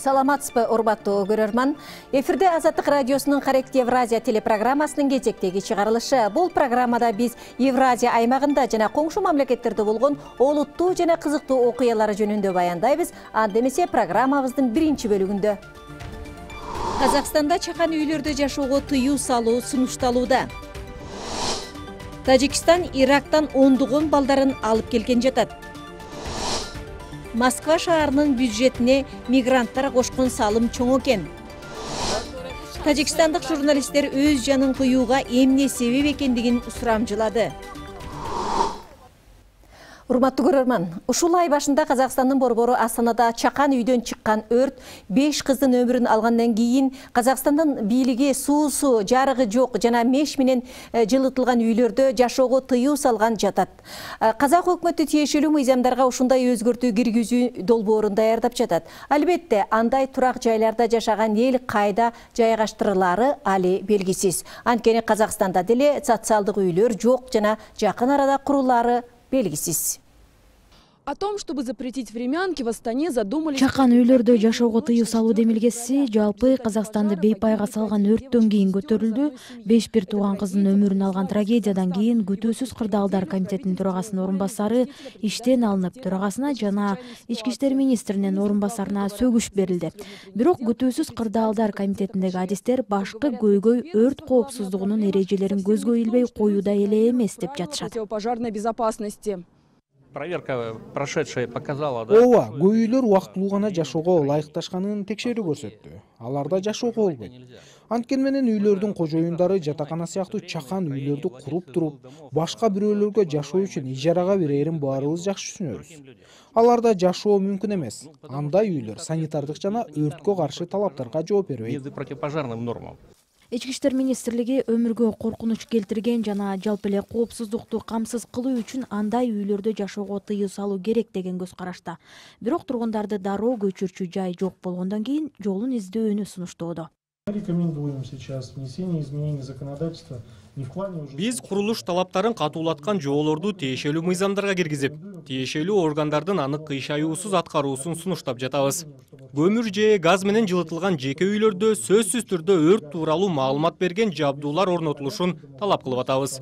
Саламатсызбы, урматтуу көрөрман. Эфирде Азаттык радиосунун Каректи Евразия телепрограммасынын кезектеги чыгарылышы. Бул программада биз Евразия аймагында жана коңшу мамлекеттерде болгон олуттуу жана кызыктуу окуялары жөнүндө баяндайбыз. Анда эмесе программабыздын биринчи бөлүгүндө. Казакстанда чакан үйлөрдө жашоого тыюу салуу сунушталууда. Тажикстан Ирактан ондогон балдарын алып келген жатат. Москва шаарынын бюджетине мигранттар кошкон салым чоң экен. Тажикстандык журналисттер өз жанын кыюуга эмне себеп экендигин сурамжылады. Урматтуу көрөрман, ушул ай башында Казакстандын борбору Астанада чакан үйдөн чыккан өрт 5 кыздын өмүрүн алгандан кийин Казакстандын бийлиги суусу, жарыгы жок жана меш менен жылытылган үйлөрдө жашоого тыюу салган жатат. Казак өкмөтү тиешелүү мыйзамдарга ушундай өзгөртүү киргизүү долбоорун даярдап жатат. Албетте, андай турак жайларда жашаган эл кайда жайгаштырылары али белгисиз. Анткени Казакстанда деле социалдык үйлөр жок жана жакын арада курулары белгисиз. О том, чтобы запретить времянки, в Астане задумались... Чакан үйлөрдө жашоого тыюу салуу демилгеси жалпы Казакстанды бейпайга салган өрттөн кийин көтөрүлдү. 5 бир тууган кыздын өмүрүн алган трагедиядан кийин күтүүсүз кырдаалдар комитетинин төрагасынын орун басары иштен алынып, төрагасына жана ички иштер министринин орун басарына сөгүш берилди. Бирок күтүүсүз кырдаалдар комитетиндеги адистер башкы көйгөй өрт коопсуздугунун эрежелерин көзгө илбей коюуда эле эмес деп жатышат. Пожарной безопасности. Проверка прошедшая показала, да? Ооба, көп үйлөр убактылуу гана жашоого ылайыкташканын текшерүү көрсөттү. Аларда жашоого болбойт. Анткени менен үйлөрдүн кожоюндары жатакана сыяктуу чакан үйлөрдү куруп туруп, башка бирөөлөргө жашоо үчүн ижарага берерин баарыбыз жакшы түшүнөбүз. Аларда жашоо мүмкүн эмес. Андай үйлөр санитардык жана өрткө каршы талаптарга жооп бербейт. Противопожарным нормам. Ички иштер министрлиги өмүргө коркунуч келтирген жана жалпы эле коопсуздукту камсыз кылуу үчүн андай үйлөрдө жашоого тыюу салуу керек деген көз карашта. Бирок тургундарды дароо көчүрчү жай жок болгондон кийин жолун издөөнү сунуштоодо. Биз курулуш талаптарын катуулаткан жоболорду тиешелүү мыйзамдарга киргизип, тиешелүү органдардын аны кыйшаюусуз аткаруусун сунуштап жатабыз. Көмүр же газ менен жылытылган жеке үйлөрдө сөзсүз түрдө өрт тууралуу маалымат берген жабдуулар орнотулушун талап кылып атабыз.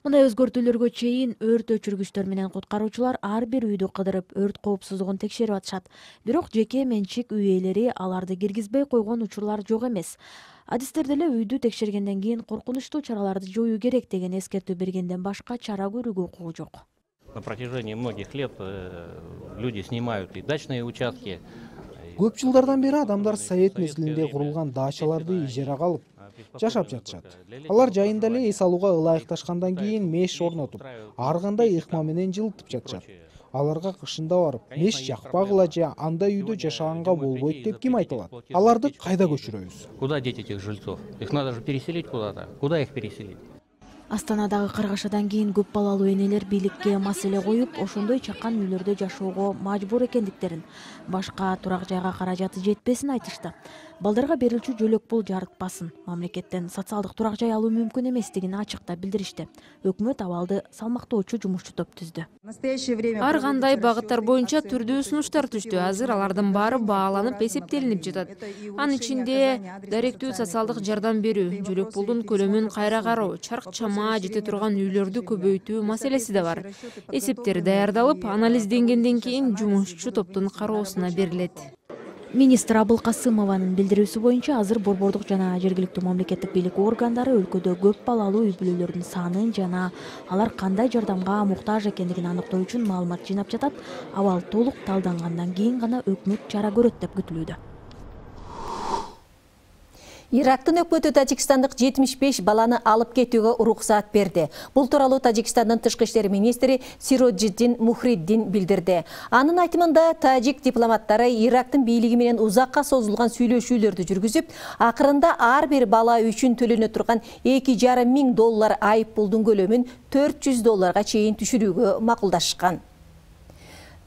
Мындай өзгөртүүлөргө чейин өрт өчүргүчтөр менен куткаруучулар ар бир үйдү кыдырып, өрт коопсуздугун текшерип атышат. Бирок жеке менчик үй ээлери аларды киргизбей койгон учурлар жок эмес. Адистер деле үйдү текшергенден кийин коркунучтуу чараларды жоюу керек деген эскертүү бергенден башка чара көрүүгө укугу жок. На протяжении многих лет люди снимают и дачные участки. Көп жылдардан бери адамдар совет мезгилинде курулган дачаларды ижарага алып жашап жатышат. Алар жайында эле эс алууга ылайыкташкандан кийин меш орнотуп, ар кандай ыкма менен жылытып жатышат. Аларга кышында барып, меш жакпагыла же андай үйдө жашаганга болбойт деп ким айта алат? Аларды кайда көчүрөбүз? Куда деть этих жильцов? Их надо же переселить куда-то. Куда их переселить? Астанадагы каргашадан кийин көп балалуу энелер бийликке маселе коюп, ошондой чакан үйлөрдө жашоого мажбур экендиктерин, башка турак жайга каражаты жетпесин айтышты. Балдарга берилчү жөлөк пул жарытпасын, мамлекеттен социалдык турак жай алуу мүмкүн эместигин ачыкта билдиришти. Өкмөт абалды салмактоочу жумушчу топ түздү. Ар кандай багыттар боюнча түрдүү сунуштар түштү. Азыр алардын баары бааланып, эсептелинип жатат. Анын ичинде даректүү социалдык жардам берүү, жөлөк пулдун көлөмүн кайра кароо, чарк чама жете турган үйлөрдү көбөйтүү маселеси да бар. Эсептер даярдалып, анализденгенден кийин жумушчу топтун кароосуна берилет. Министр Абыл Касымованын билдирүүсү боюнча азыр борбордук жана жергиликтүү мамлекеттик бийлик органдары өлкөдө көп балалуу үй бүлөлөрдүн санын жана алар кандай жардамга муктаж экендигин аныктоо үчүн маалымат жыйнап жатат. Абал толук талдангандан кийин гана өкмөт чара көрөт деп күтүлүүдө. Ирактын өкмөтү Тажикстандык 75 баланы алып кетүүгө уруксаат берди. Бул тууралуу Тажикстандын тышкы иштер министри Сироджиддин Мухриддин билдирди. Анын айтымында тажик дипломаттары Ирактын бийлиги менен узакка созулган сүйлөшүүлөрдү жүргүзүп, акырында ар бир бала үчүн төлөнө турган $2,500 айып пулдун көлөмүн $400 чейин түшүрүүгө макулдашкан.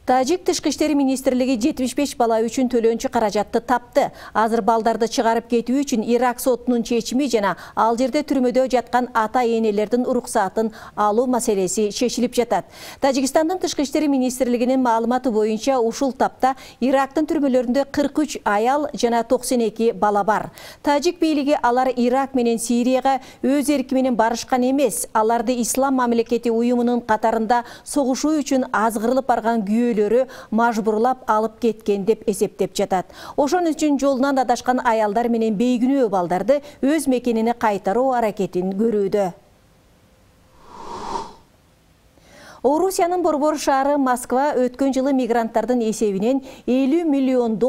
Тажик Тышкы иштери министрлиги 75 бала үчүн төлөөнчү каражатты тапты. Азыр балдарды чыгарып кетүү үчүн Ирак сотунун чечими жана ал жерде түрмөдө жаткан ата-энелердин уруксатын алуу маселеси чечилип жатат. Тажикстандын Тышкы иштери министрлигинин маалыматы боюнча ушул тапта Ирактын түрмөлөрүндө 43 аял жана 92 бала бар. Тажик бийлиги алар Ирак менен Сирияга өз эрки менен барышкан эмес, аларды Ислам мамлекети уюмунун катарында согушуу үчүн азгырылып барган мажбурлап алып кеткен деп эсептеп жатат. Ошон үчүн жолунан адашкан аялдар менен бейгүнөө балдарды өз мекенине кайтаруу аракетин көрүүдө. Орусиянын борбор шаары Москва өткөн жылы мигранттардын эсебинен $50 миллион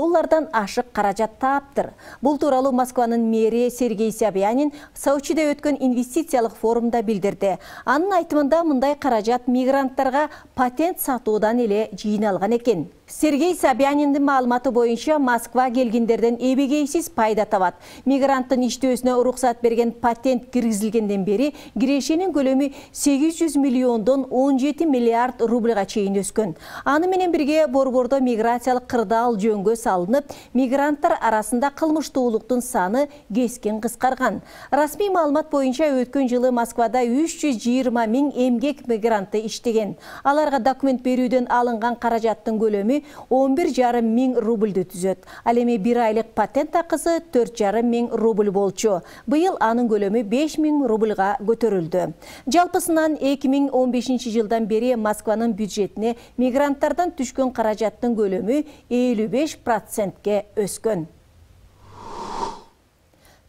ашык каражат таптыр. Бул тууралуу Москванын мэри Сергей Собянин Сочиде өткөн инвестициялык форумда билдирди. Анын айтымында мындай каражат мигранттарга патент сатуудан эле жыйналган экен. Сергей Собяниндин маалыматы боюнча Москва келгендерден эбегейсиз пайда табат. Мигранттын иштөөсүнө уруксат берген патент киргизилгенден бери кирешенин көлөмү 800 миллиондон 17 миллиард рубльга чейин өскөн. Аны менен бирге борбордо миграциялык кырдаал жөнгө салынып, мигранттар арасында кылмыштуулуктун саны кескин кыскарган. Расмий маалымат боюнча өткөн жылы Москвада 320 000 эмгек мигранты иштеген. Аларга документ берүүдөн алынган каражаттын көлөмү 11,5 миң рубльді түзөт. Ал эми 1 айлык патент акысы 4,5 миң рубль болчу. Быйыл анын көлөмү 5 миң рубльга көтөрүлдү. Жалпысынан 2015 жылдан бери Москванын бюджетине мигранттардан түшкөн каражаттын көлөмү 55%ке өскөн.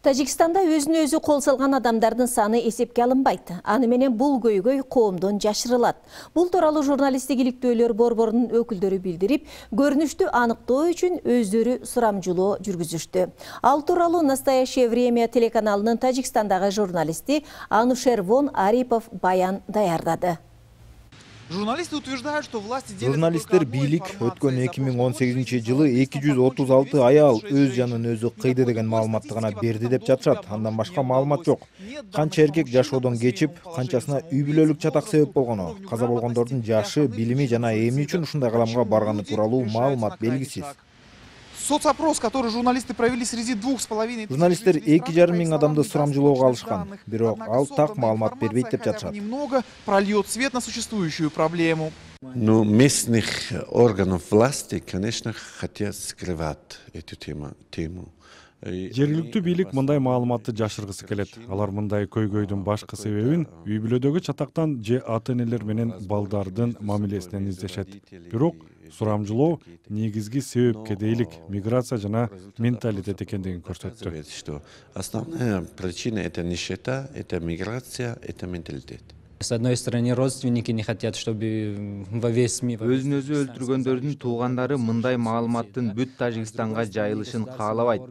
Тажикстанда өзүнө өзү кол салган адамдардын саны эсепке алынбайт. Аны менен бул көйгөй коомдон жашырылат. Бул тууралуу журналисттик иликтөөлөр борборунун өкүлдөрү билдирип, көрүнүштү аныктоо үчүн өздөрү сурамжылоо жүргүзүштү. Ал тууралуу «Настоящее время» телеканалынын Тажикстандагы журналисти Анушер Вон Арипов баян даярдады. Журналисттер бийлик өткөн 2018 жылы 236 аял өз жанын өзү кыйды деген маалыматты гана берди деп жатышат. Андан башка маалымат жок. Канча эркек жашоодон кечип, канчасына үй бүлөлүк чатак себеп болгону, каза болгондордун жашы, билими жана эмне үчүн ушундай каламга барганы тууралуу маалымат белгисиз. Соцопрос, который журналисты провели среди 2,5 Журналисттер 2,5 миң адамды сурамжылоого алышкан, бирок ал так маалымат бербейт деп жатышат. Немного прольет свет на существующую проблему. Ну, местных органов власти, конечно, хотят скрывать эту тему. Жергиликтүү бийлик мындай маалыматты жашыргысы келет. Алар мындай көйгөйдүн башкы себебин үй бүлөдөгү чатактан же ата-энелер менен балдардын мамилесинен издешет. Бирок сурамжылоо негизги себепке дейлик миграция жана менталитет экендигин көрсөттү. Основная причина — это нищета, это миграция, это менталитет. С одной стороны, родственники не хотят, чтобы во весь мир... Өзүн өзү өлтүргөндөрдүн туугандары мындай маалыматтын бүт Тажикстанга жайылышын каалабайт.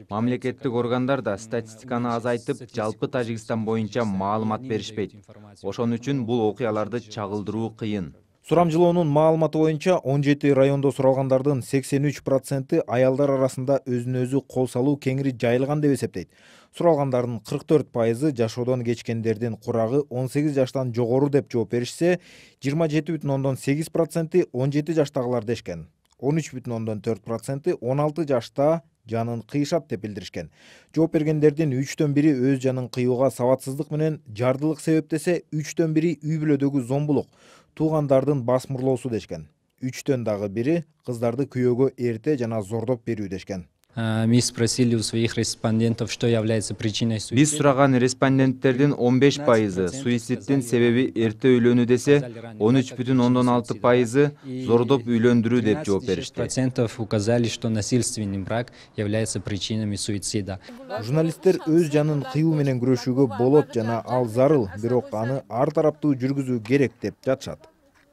Мамлекеттик органдар да статистиканы азайтып, жалпы Тажикстан боюнча маалымат беришпейт. Ошон үчүн бул окуяларды чагылдыруу кыйын. Сурамжылоонун маалыматы боюнча 17 райондо суралгандардын 83% аялдар арасында өзүн өзү кол салуу кеңири жайылган деп эсептейт. Суралгандардын 44% жашоодон кечкендердин курагы 18 жаштан жогору деп жооп беришсе, 27,8% 17 жаштагылар дешкен. 13,4% 16 жашта жанын кыйшат деп билдиришкен. Жооп бергендердин 3/4 өз жанын кыюуга сабатсыздык менен жардылык себептесе, 3/4 үй бүлөдөгү зомбулук, туугандардын басмырлоосу дешкен. 3/1 кыздарды күйөөгө эрте жана зордоп берүү дешкен. Мы спросили у своих респондентов, что является причиной суицида. Биз сураган респонденттердин 15% суициддин себеби эрте үйлөнүү десе, 13,6% зордоп үйлөндүрүү деп жооп беришти. Процентов указали, что насильственный брак является причинами суицида. Журналисттер өз жанын кыюу менен күрөшүүгө болот жана ал зарыл, бирок аны ар тараптуу жүргүзүү керек деп жатышат.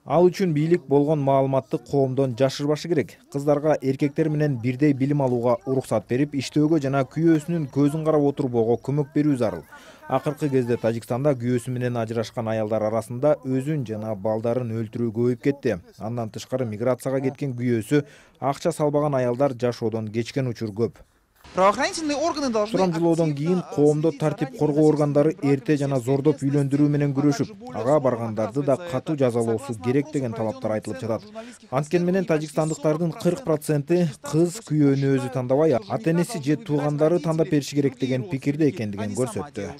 Ал үчүн бийлик болгон маалыматты коомдон жашырбашы керек. Кыздарга эркектер менен бирдей билим алууга уруксат берип, иштөөгө жана күйөөсүнүн көзүн карап отурбоого көмөк берүү зарыл. Акыркы кезде Тажикстанда күйөөсү менен ажырашкан аялдар арасында өзүн жана балдарын өлтүрүү көбөйүп кетти. Андан тышкары миграцияга кеткен күйөөсү акча салбаган аялдар жашоодон кечкен учур көп. Правоохранительные органы должны... Сурамжылоодон кийин коомдо тартип коргоо органдары эрте жана зордоп үйлөндүрүү менен күрөшүп, ага баргандарды да катуу жазалоосу керек деген талаптар айтылып жатат. Анткени менен тажикстандыктардын 40% кыз күйөөнү өзү тандабай, ата-энеси же туугандары тандап бериши керек деген пикирде экендигин көрсөттү.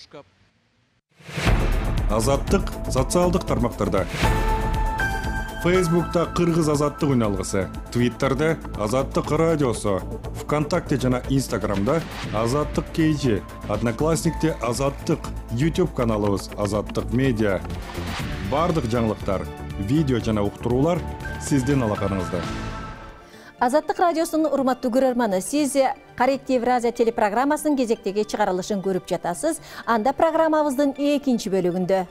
Азаттык социалдык тармактарда. Facebook'ta Кыргыз азаттык үналгысы, Twitter'da Азаттык радиосу, ВКонтакте жана Instagram'da Азаттык KG, Одноклассникте Азаттык, YouTube каналыбыз Азаттык медиа. Бардык жаңылыктар, видео жана уктуруулар сиздин алаканыңызда. Азаттык радиосунун урматтуу көрөрманы, сиз Корректив Евразия телепрограммасынын кезектеги чыгарылышын көрүп жатасыз. Анда программабыздын экинчи бөлүгүндө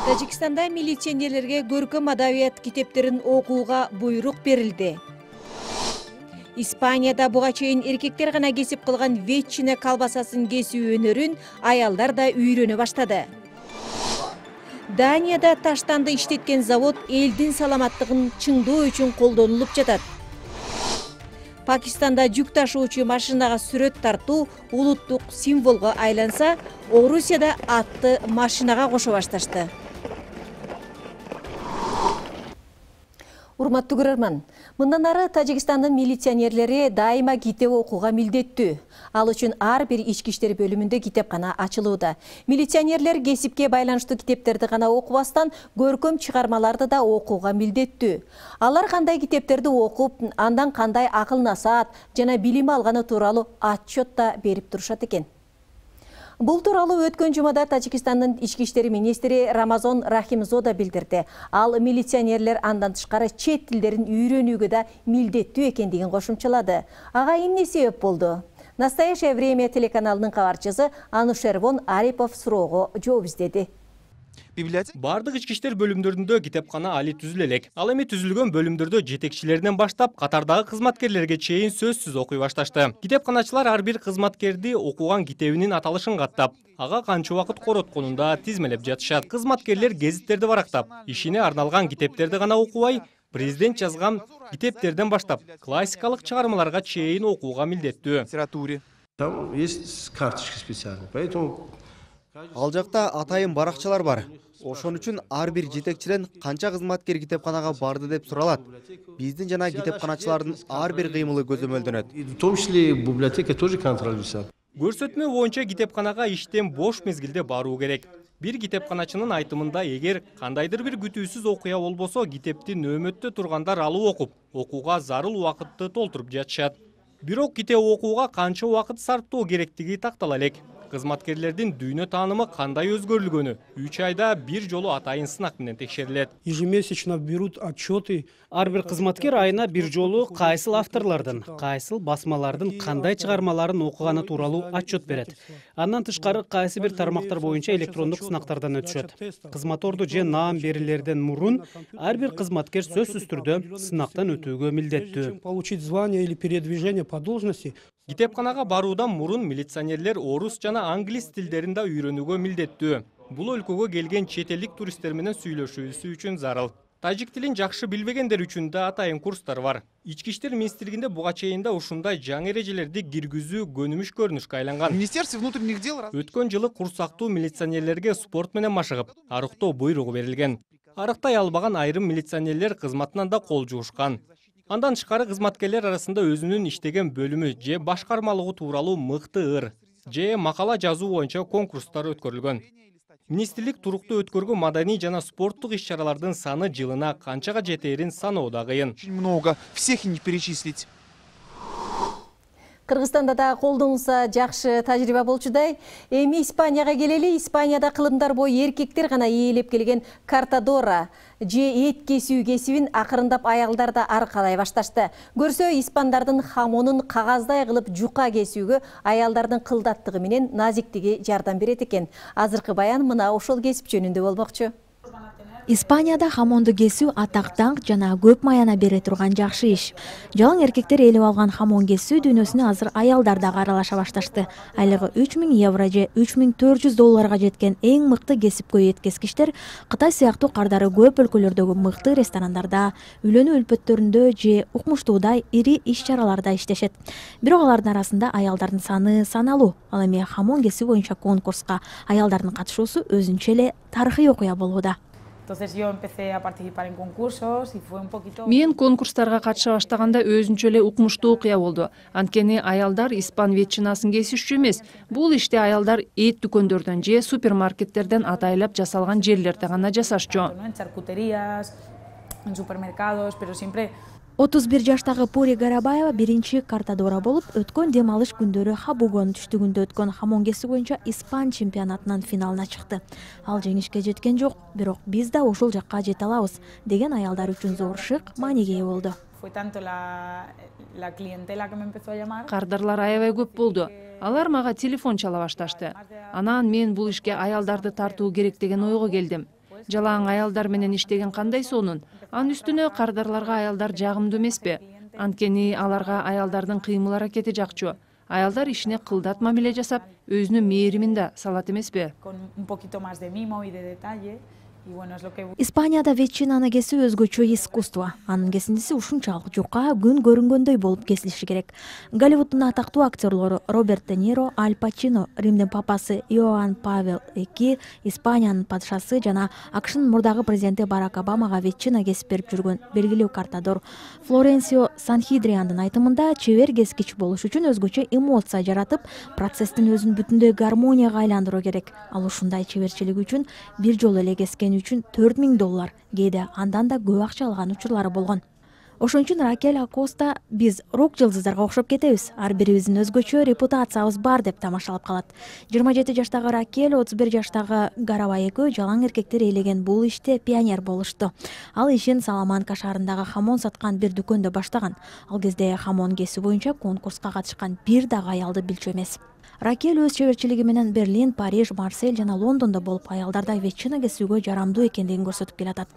Тажикстанда милиционерлерге көркөм адабият китептерин окууга буйрук берилди. Испанияда буга чейин эркектер гана кесип кылган ветчина колбасасын кесүү өнөрүн аялдар да үйрөнө баштады. Данияда таштанды иштеткен завод элдин саламаттыгын чыңдоо үчүн колдонулуп жатат. Пакистанда жүк ташуучу машинага сүрөт тартуу улуттук символго айланса, Орусияда атты машинага кошо башташты. Урматтуу көрөрман, мындан ары Тажикстандын милиционерлери дайыма китеп окууга милдеттүү. Ал үчүн ар бир ички иштер бөлүмүндө китепкана ачылууда. Милиционерлер кесипке байланыштуу китептерди гана окубастан, көркөм чыгармаларды да окууга милдеттүү. Алар кандай китептерди окуп, андан кандай акыл насаат жана билим алганы тууралуу отчет да берип турушат экен. Бул тууралуу өткөн жумада Тажикстандын ички иштери министри Рамазон Рахимзода билдирди. Ал милиционерлер андан тышкары чет тилдерин үйрөнүүгө да милдеттүү экендигин кошумчалады. Ага эмне себеп болду? Настоящее время телеканалынын кабарчысы Анушервон Арипов суроого жооп издеди. Бардык ички иштер бөлүмдөрүндө китепкана али түзүлө элек. Ал эми түзүлгөн бөлүмдөрдө жетекчилеринен баштап катардагы кызматкерлерге чейин сөзсүз окуй башташты. Китепканачылар ар бир кызматкерди окуган китебинин аталышын каттап, ага канча убакыт коротконун да тизмелеп жатышат. Кызматкерлер гезиттерди барактап, ишине арналган китептерди гана окубай, президент жазган китептерден баштап, классикалык чыгармаларга чейин окууга милдеттүү. Там есть карточки специальные, поэтому ал жакта атайын баракчалар бар. Ошон үчүн ар бир жетекчиден канча кызматкер китепканага барды деп суралат. Биздин жана китепканачылардын ар бир кыймылы көзөмөлдөнөт. в том числе библиотека тоже контролируется. Көрсөтмө боюнча китепканага иштен бош мезгилде баруу керек. Бир китепканачынын айтымында, эгер кандайдыр бир күтүүсүз окуя болбосо, китепти нөөмөттө тургандар алып окуп, окууга зарыл убакытты толтуруп жатышат. Бирок китеп окууга канча убакыт сарптоо керектиги тактала элек. Кызматкерлердин дүйнө таанымы кандай өзгөрүлгөнү 3 айда бир жолу атайын сынак менен текшерилет. Ежемесячно берут отчеты. Ар бир кызматкер айына бир жолу кайсыл авторлордун, кайсыл басмалардын кандай чыгармаларын окуганы тууралуу отчет берет. Андан тышкары кайсы бир тармактар боюнча электрондук сынактардан өтүшөт. Кызматорду же наам берилерден мурун ар бир кызматкер сөзсүз түрдө сынактан өтүүгө милдеттүү. Получить звание или передвижение по должности. Китепканага баруудан мурун милиционерлер орус жана англис тилдерин да үйрөнүүгө милдеттүү. Бул өлкөгө келген чет элдик туристтер менен сүйлөшүүсү үчүн зарыл. Тажик тилин жакшы билбегендер үчүн да атайын курстар бар. Ички иштер министрлигинде буга чейин да ушундай жаңы эрежелерди киргизүү көнүмүш көрүнүшкө айланган. Министерство внутренних дел Өткөн жылы курсактуу милиционерлерге спорт менен машыгып, арыктоо буйругу берилген. Арыктай албаган айрым милиционерлер кызматынан да кол жуушкан. Андан тышкары кызматкерлер арасында өзүнүн иштеген бөлүмү же башкармалыгы тууралуу мыкты ыр же макала жазуу боюнча конкурстар өткөрүлгөн. Министрлик туруктуу өткөргөн маданий жана спорттук иш-чаралардын саны жылына канчага жетээрин саноо да кыйын. Много, всех не перечислить. Кыргызстанда да колдонулса жакшы тажрыйба болчудай. Эми Испанияга келели. Испанияда кылымдар бою эркектер гана ээлеп келген картадора же эт кесүү кесибин акырындап аялдар да аркалай башташты. Көрсө, испандардын хамонун кагаздай кылып жука кесүүгө аялдардын кылдаттыгы менен назиктиги жардам берет экен. Азыркы баян мына ошол кесип жөнүндө болмокчу. Испанияда хамонду кесүү атак даңк жана көп маяна бере турган жакшы иш. Жалаң эркектер ээлеп алган хамон кесүү дүйнөсүнө азыр аялдар дагы аралаша башташты. Айлыгы 3000 евро же 3400 долларга жеткен эң мыкты кесипкөй эт кескичтер Кытай сыяктуу кардары көп өлкөлөрдөгү мыкты ресторандарда, үйлөнүү үлпөттөрүндө же укмуштуудай ири иш-чараларда иштешет. Бирок алардын арасында аялдардын саны саналуу. Ал эми хамон кесүү боюнча конкурска аялдардын катышуусу өзүнчө эле тарыхый окуя болууда. Мен конкурстарга катыша баштаганда өзүнчө эле укмуштуу окуя болду. Анткени аялдар испан ветчинасын кесишчү эмес. Бул ишти аялдар эт дүкөндөрдөн же супермаркеттерден атайлап жасалган жерлерде гана жасашчу. 31 жаштагы Пури Гарабаева биринчи картадора болуп, өткөн дем алыш күндөрү Хабугон түштүгүндө өткөн хамон кесүү боюнча Испан чемпионатынын финалына чыкты. Ал жеңишке жеткен жок, бирок биз да ошол жакка жете алабыз деген аялдар үчүн зор шык мааниге ээ болду. Кардарлар аябай көп болду. Алар мага телефон чала башташты. Анан мен бул ишке аялдарды тартуу керек деген ойго келдим. Жалаң аялдар менен иштеген кандай сонун. Анын үстүнө кардарларга аялдар жагымдуу эмеспи? Анткени аларга аялдардын кыймыл аракети жакчу. Аялдар ишине кылдат мамиле жасап, өзүнүн мээримин да салат эмеспи? Испанияда ветчинаны кесүү өзгөчө искусство. Анын кесиндиси ушунчалык жука, күн көрүнгөндөй болуп кесилиши керек. Голливуддун атактуу актерлору Роберт Де Ниро, Аль Пачино, Римдин папасы Иоанн Павел II, Испаниянын падышасы жана АКШнын мурдагы президенти Барак Обамага ветчина кесип берип жүргөн белгилүү картадор Флоренсио Санхидриандын айтымында, чебер кескич болуш үчүн өзгөчө эмоция жаратып, процесстин өзүн бүтүндөй гармонияга айландыруу керек. Ал ушундай чеберчилиги үчүн бир жолу эле кескен үчүн $4000, кээде андан да көп акча алган учурлары болгон. Ошон үчүн Ракель Акоста биз рок жылдыздарга окшоп кетебиз, ар бирибиздин өзгөчө репутациябыз бар деп тамашалап калат. 27 жаштагы Ракель, 31 жаштагы Гарабай экөө жалаң эркектер ээлеген бул иште пионер болушту. Ал ишин Саламанка шаарындагы хамон саткан бир дүкөндө баштаган. Ал кезде хамон кесүү боюнча конкурска катышкан бир дагы аялды билчү эмес. Ракель өз чеберчилиги менен Берлин, Париж, Марсель жана Лондондо болуп аялдарда ветчина кесүүгө жарамдуу экендигин көрсөтүп келатат.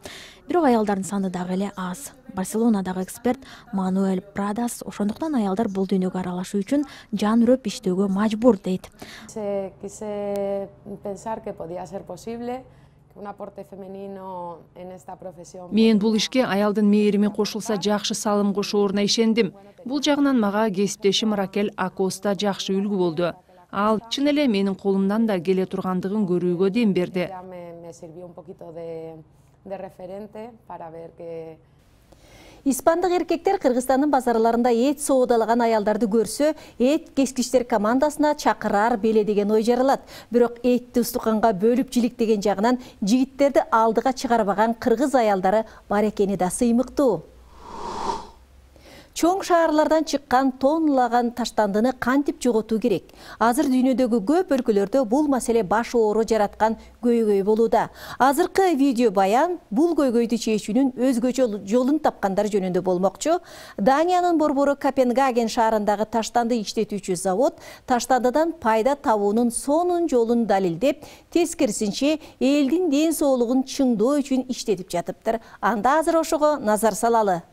Бирок аялдардын саны дагы эле аз. Барселонадагы эксперт Мануэль Прадас ошондуктан аялдар бул дүйнөгө аралашуу үчүн жан үрөп иштөөгө мажбур дейт. Мен бул ишке аялдын мээрими кошулса жакшы салым кошооруна ишендим. Бул жагынан мага кесиптешим Ракель Акоста жакшы үлгү болду. Ал чын эле менин колумдан да келе тургандыгын көрүүгө дем берди. Испандык эркектер Кыргызстандын базарларында эт соодалаган аялдарды көрсө, эт кескичтер командасына чакырар беле деген ой жаралат. Бирок этти устуканга бөлүп жиликтеген жагынан жигиттерди алдыга чыгарбаган кыргыз аялдары бар экени да сыймыктуу. Чоң шаарлардан чыккан тонналаган таштандыны кантип жоготуу керек? Азыр дүйнөдөгү көп өлкөлөрдө бул маселе баш оору жараткан көйгөй болууда. Азыркы видео баян бул көйгөйдү чечүүнүн өзгөчө жолун тапкандар жөнүндө болмокчу. Даниянын борбору Копенгаген шаарындагы таштанды иштетүүчү завод таштандыдан пайда табуунун сонун жолун далилдеп, тескерисинче элдин ден соолугун чыңдоо үчүн иштетип жатыптыр. Анда азыр ошого назар салалы.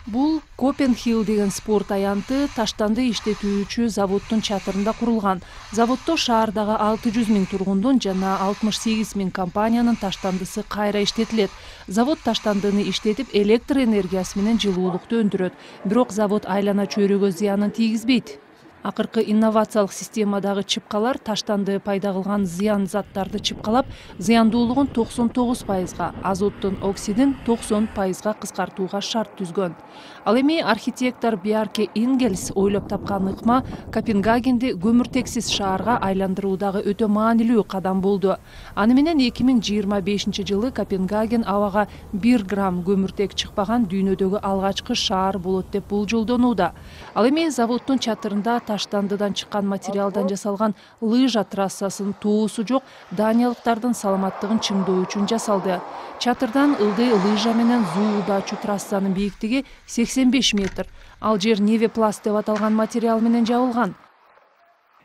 Бул Копенхилл деген спорт аянты таштанды иштетүүчү заводдун чатырында курулган. Заводдо шаардагы 600 000 тургундун жана 68 000 компаниянын таштандысы кайра иштетилет. Завод таштандыны иштетип электр энергиясы менен жылуулукту өндүрөт. Бирок завод айлана чөйрөгө зыянын тийгизбейт. Акыркы инновациялык системадагы чыпкалар таштанды пайда кылган зыян заттарды чыпкалап, зыяндуулугун 99%, азоттун оксидин 90%га кыскартууга шарт түзгөн. Ал эми архитектор Бьярке Ингельс ойлоп тапкан ыкма Копенгагенди көмүртексиз шаарга айландыруудагы өтө маанилүү кадам болду. Аны менен 2025 жылы Копенгаген абага 1 грамм көмүртек чыкпаган дүйнөдөгү алгачкы шаар болот деп болжолдонууда. Ал эми заводдун чатырында таштандыдан чыккан материалдан жасалган лыжа трассасынын тоосу жок даниялыктардын саламаттыгын чыңдоо үчүн жасалды. Чатырдан ылдый лыжа менен зуулдачу трассанын бийиктиги 85 метр. Ал жер невепласт деп аталган материал менен жабылган.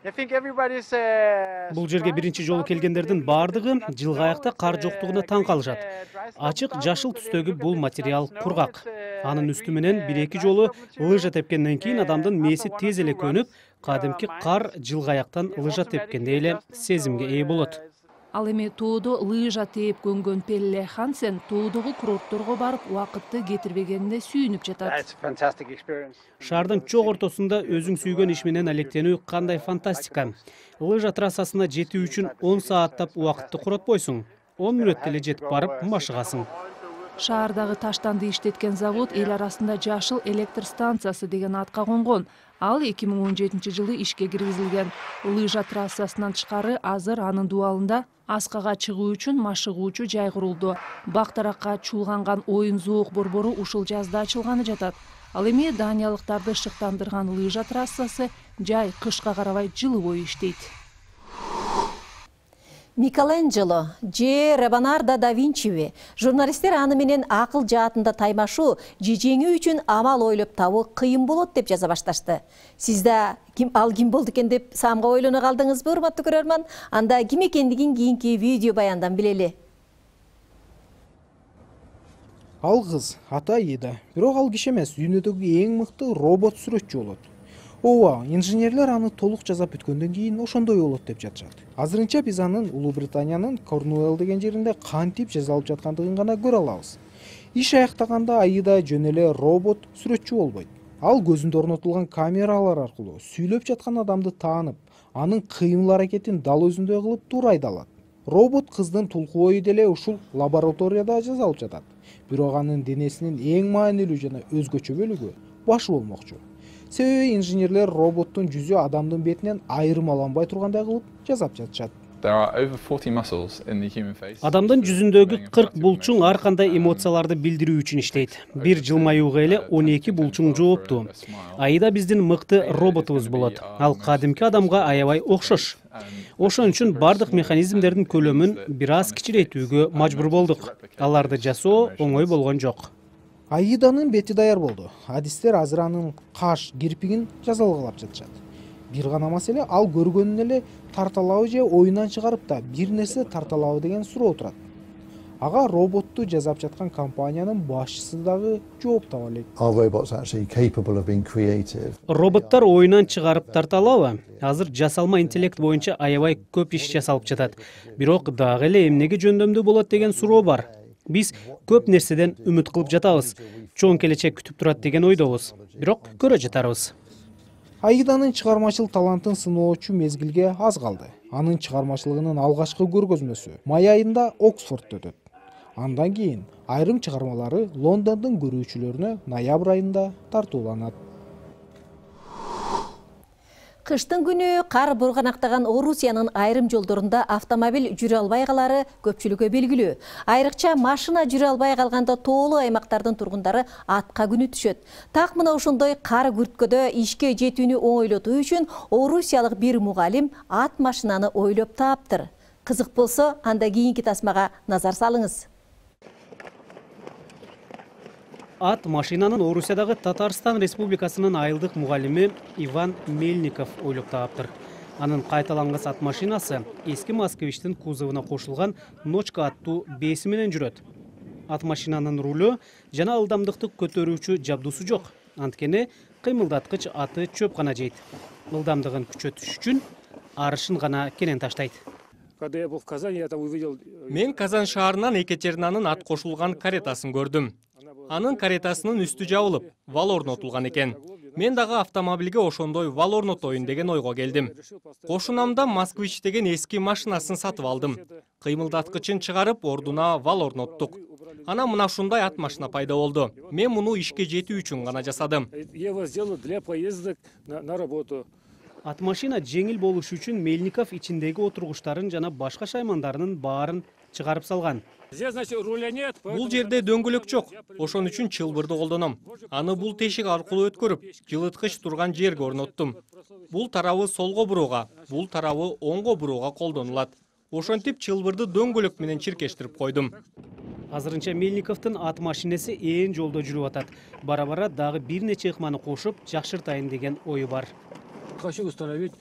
Бул жерге биринчи жолу келгендердин баардыгы жылгаякта кар жоктугуна таң калышат. Ачык жашыл түстөгү бул материал кургак. Анын үстү менен 1-2 жолу лыжа тепкенден кийин адамдын мээси тез эле көнүп, кадимки кар жылгаяктан лыжа тепкендей эле сезимге ээ болот. Ал эми тоодо лыжа тээп көнгөн Пелле Хансен тоодогу курортторго барып убакытты кетирбегенине сүйүнүп жатат. Шаардын чок ортосунда өзүң сүйгөн иш менен алектенүү кандай фантастика. Лыжа трассасына жетүү үчүн 10 сааттап убакытты коротпойсуң. 10 мүнөттө эле жетип барып машыгасың. Шаардагы таштанды иштеткен завод эл арасында жашыл электр станциясы деген атка конгон. Ал 2017-жылы ишке киргизилген. Лыжа трассасынан тышкары азыр анын дубалында аскага чыгуу үчүн машыгуучу жай курулду. Бактаракка чуулганган оюн зоок борбору ушул жазда ачылганы жатат. Ал эми даниялыктарды шыктандырган лыжа трассасы жай кышка карабай жылы бою иштейт. Микеланджело же Леонардо да Винчиби журналисттер аны менен акыл жаатында таймашуу жежеңүү үчүн амал ойлоп табуу кыйын болот деп жаза башташты. Сиз да ал ким болду экен деп самга ойлоно калдыңызбы, урматтуу көрөрман? Анда ким экендигин кийинки видео баяндан билели. Ал кыз ата Аида, бирок ал киши эмес, дүйнөдөгү эң мыкты робот сүрөтчү болот. Ооба, инженерлер аны толук жасап бүткөндөн кийин ошондой болот деп жатышат. Азырынча биз анын Улуу Британиянын Корнуэлл деген жеринде кантип жасалып жаткандыгын гана көрө алабыз. Иш аяктаганда Аида жөн эле робот сүрөтчү болбойт. Ал көзүндө орнотулган камералар аркылуу сүйлөп жаткан адамды таанып, анын кыймыл аракетин дал өзүндөй кылып туура айта алат. Робот кыздын тулку бою деле ушул лабораторияда жасалып жатат. Бирок анын денесинин эң маанилүү жана өзгөчө бөлүгү башы болмокчу. Себеби инженерлер роботтун жүзү адамдын бетинен айырмаланбай тургандай кылып жасап жатышат. Адамдын жүзүндөгү 40 булчуң ар кандай эмоцияларды билдирүү үчүн иштейт. Бир жылмаюуга эле 12 булчуң жооптуу. Аида биздин мыкты роботубуз болот. Ал кадимки адамга аябай окшош. Ошон үчүн бардык механизмдердин көлөмүн бир аз кичирейтүүгө мажбур болдук. Аларды жасоо оңой болгон жок. Аиданын бети даяр болду. Адистер азыр анын каш, кирпигин жазалгалап жатышат. Бир гана маселе, ал көргөнүн эле тарталабы же оюнан чыгарып да бир нерсе тарталабы деген суроо турат. Ага роботту жасап жаткан компаниянын башчысы дагы жооп таба элек. Роботтор оюнан чыгарып тарталабы? Азыр жасалма интеллект боюнча аябай көп иш жасалып жатат. Бирок дагы эле эмнеге жөндөмдүү болот деген суроо бар. Биз көп нерседен үмүт кылып жатабыз. Чоң келечек күтүп турат деген ойдобуз. Бирок көрө жатарбыз. Аиданын чыгармачыл талантын сыноочу мезгилге аз калды. Анын чыгармачылыгынын алгачкы көргөзмөсү май айында Оксфордто өтөт. Андан кийин айрым чыгармалары Лондондун көрүүчүлөрүнө ноябрь айында тартууланат. Кыштын күнү кар бурганактаган Орусиянын айрым жолдорунда автомобиль жүрө албай калары көпчүлүккө белгилүү. Айрыкча машина жүрө албай калганда тоолуу аймактардын тургундары атка күнүтүшөт. Так мына ошондой кар күрткөдө ишке жетүүнү оңойлотуу үчүн орусиялык бир мугалим ат машинаны ойлоп тааптыр. Кызык болсо, анда кийинки тасмага назар салыңыз. Ат машинанын Орусиядагы Татарстан Республикасынын айылдык мугалими Иван Мельников ойлоп тааптыр. Анын кайталангыс ат машинасы эски Москвичтин кузовуна кошулган Ночка аттуу бээси менен жүрөт. Ат машинанын рулю жана ылдамдыкты көтөрүүчү жабдуусу жок. Анткени кыймылдаткыч аты чөп гана жейт. Ылдамдыгын күчөтүш үчүн арышын гана кенен таштайт. Мен Казан шаарынан Екатеринанын ат кошулган каретасын көрдүм. Анын каретасынын үстү жабылып, вал орнотулган экен. Мен дагы автомобилге ошондой вал орнотоюн деген ойго келдим. Кошунамда Москвич деген эски машинасын сатып алдым. Кыймылдаткычын чыгарып, ордуна вал орноттук. Анан мына ушундай ат машина пайда болду. Мен муну ишке жетүү үчүн гана жасадым. Ат машина жеңил болуш үчүн Мельников ичиндеги отургучтарын жана башка шаймандарынын баарын чыгарып салган. Бул жерде дөңгөлөк жок. Ошон үчүн чылбырды колдоном. Аны бул тешик аркылуу өткөрүп, жылыткыч турган жерге орноттум. Бул тарабы солго бурууга, бул тарабы оңго бурууга колдонулат. Ошентип чылбырды дөңгөлөк менен чиркештирип койдум. Азырынча Мельниковдун ат машинеси ээн жолдо жүрүп атат. Бара-бара дагы бир нече ыкманы кошуп, жакшыртайын деген ою бар. Хочу установить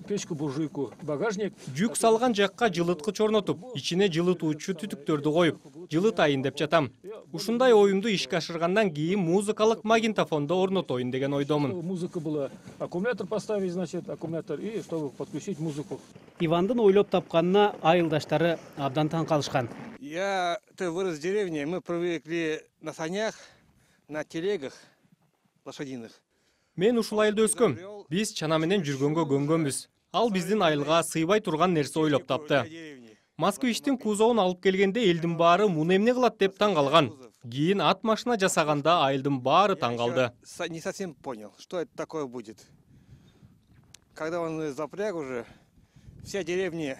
печку-буржуйку, багажник. Жүк салган жакка жылыткыч орнотуп, ичине жылытуучу түтүктөрдү коюп, жылытайын деп жатам. Ушундай оюмду ишке ашыргандан кийин музыкалык магнитофондо орнотоюн деген ойдомун. Музыка была, аккумулятор поставить, значит, аккумулятор, и чтобы подключить музыку. Ивандын ойлоп тапканына айылдаштары абдан таң калышкан. Ты вырос в деревне, мы привыкли на санях, на телегах лошадиных. Мен ушул айылда өскөм. Биз чана менен жүргөнгө көнгөнбүз. Ал биздин айылга сыйбай турган нерсе ойлоп тапты. Москвичтин кузовун алып келгенде элдин баары муну эмне кылат деп таң калган. Кийин ат машина жасаганда айылдын баары таң калды. Не совсем понял, что это такое будет. Когда он запряг уже, вся деревня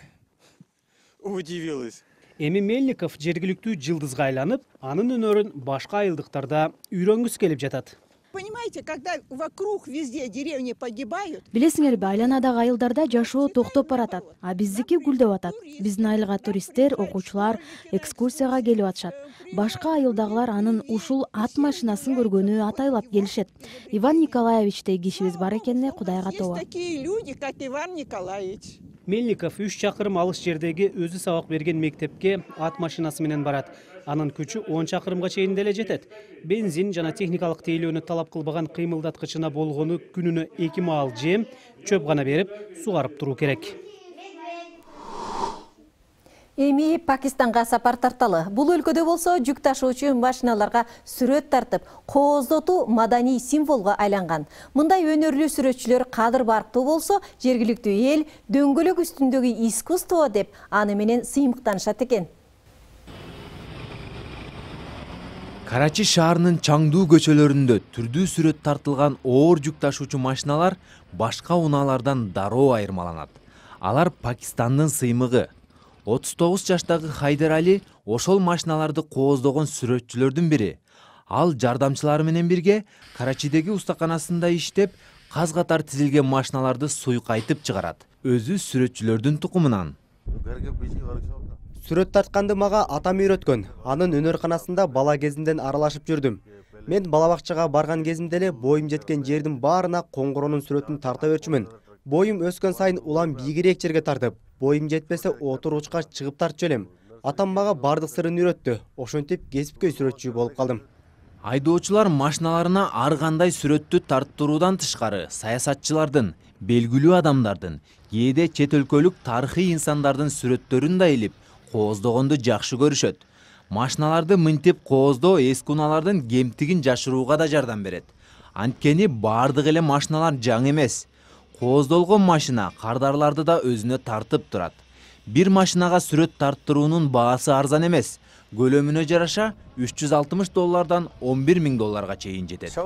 удивилась. Эми Мельников жергиликтүү жылдызга айланып, анын өнөрүн башка айылдыктарда үйрөнгүсү келип жатат. Понимаете, когда вокруг везде деревни погибают. Билесиңерби, айланадагы айылдарда жашоо токтоп баратат, а биздики гүлдөп атат. Биздин айылга туристтер, окуучулар экскурсияга келип атышат. Башка айылдагылар анын ушул ат машинасын көргөнү атайлап келишет. Иван Николаевичтей кишибиз бар экенине Кудайга тобо. Есть такие люди, как Иван Николаевич. Мельников 3 чакырым алыс жердеги өзү сабак берген мектепке ат машинасы менен барат. Анын күчү 10 чакырымга чейин деле жетет. Бензин жана техникалык тейлөөнү талап кылбаган кыймылдаткычына болгону күнүнө 2 маал жем, чөп гана берип, сугарып туруу керек. Эми Пакистанга сапар тарталы. Бул өлкөдө болсо жүк ташуучу машиналарга сүрөт тартып, кооздотуу маданий символго айланган. Мындай өнөрлүү сүрөтчүлөр кадыр барктуу болсо, жергиликтүү эл дөңгөлөк үстүндөгү искусство деп аны менен сыймыктанышат экен. Карачи шаарынын чаңдуу көчөлөрүндө түрдүү сүрөт тартылган оор жүк ташуучу машиналар башка унаалардан дароо айырмаланат. Алар Пакистандын сыймыгы. 39 жаштагы Хайдар Али ошол машиналарды кооздогон сүрөтчүлөрдүн бири. Ал жардамчылары менен бирге Карачидеги устаканасында иштеп, каз катар тизилген машиналарды суйкайтып чыгарат. Өзү сүрөтчүлөрдүн тукумунан. Сүрөт тартканды мага атам үйрөткөн. Анын өнөрканасында бала кезимден аралашып жүрдүм. Мен бала бакчага барган кезимде эле боюм жеткен жердин баарына коңгуроонун сүрөтүн тарта берчүмүн. Боюм өскөн сайын улам бийигирээк жерге тартып, боюм жетпесе отуручка чыгып тартчу элем. Атам мага бардык сырын үйрөттү. Ошентип кесипкөй сүрөтчү болуп калдым. Айдоочулар машиналарына ар кандай сүрөттү тарттыруудан тышкары саясатчылардын, белгилүү адамдардын, кээде чет өлкөлүк тарыхый инсандардын сүрөттөрүн да илип, кооздогонду жакшы көрүшөт. Машиналарды мынтип кооздоо эски унаалардын кемтигин жашырууга да жардам берет. Анткени бардык эле машиналар жаңы эмес. Кооздолгон машина кардарларды да өзүнө тартып турат. Бир машинага сүрөт тарттыруунун баасы арзан эмес. Көлөмүнө жараша $360 11 000 чейин жетет.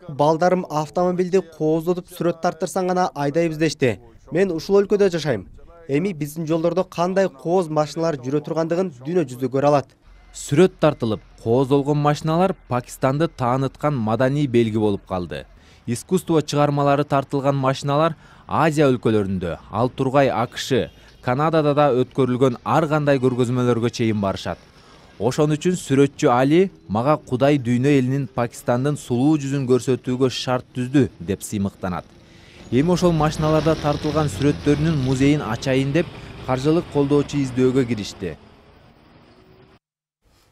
Балдарым автомобилди кооздотуп сүрөт тарттырсаң гана айдайбыз дешти. Мен ушул өлкөдө жашайм. Эми биздин жолдордо кандай кооз машиналар жүрө тургандыгын дүйнө жүзү көрө алат. Сүрөт тартылып, кооздолгон машиналар Пакистанды тааныткан маданий белги болуп калды. Искусство чыгармалары тартылган машиналар Азия өлкөлөрүндө, ал тургай АКШ, Канадада да өткөрүлгөн ар кандай көргөзмөлөргө чейин барышат. Ошон үчүн сүрөтчү Али мага Кудай дүйнө элинин Пакистандын сулуу жүзүн көрсөтүүгө шарт түздү деп сыймыктанат. Эми ошол машиналарда тартылган сүрөттөрүнүн музейин ачайын деп каржылык колдоочу издөөгө киришти.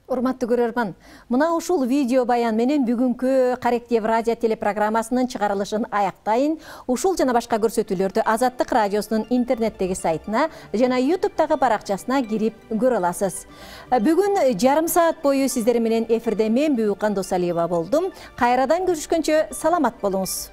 Урматтуу көрөрман, мына ушул видео баян менен бүгүнкү Каректев радио телепрограммасынын чыгарылышын аяктайын. Ушул жана башка көрсөтүүлөрдү Азаттык радиосунун интернеттеги сайтына жана YouTube'дагы баракчасына кирип көрө аласыз. Бүгүн жарым саат бою сиздер менен эфирде мен Бүкан Досалиева болдум. Кайрадан көрүшкөнчө саламат болуңуз.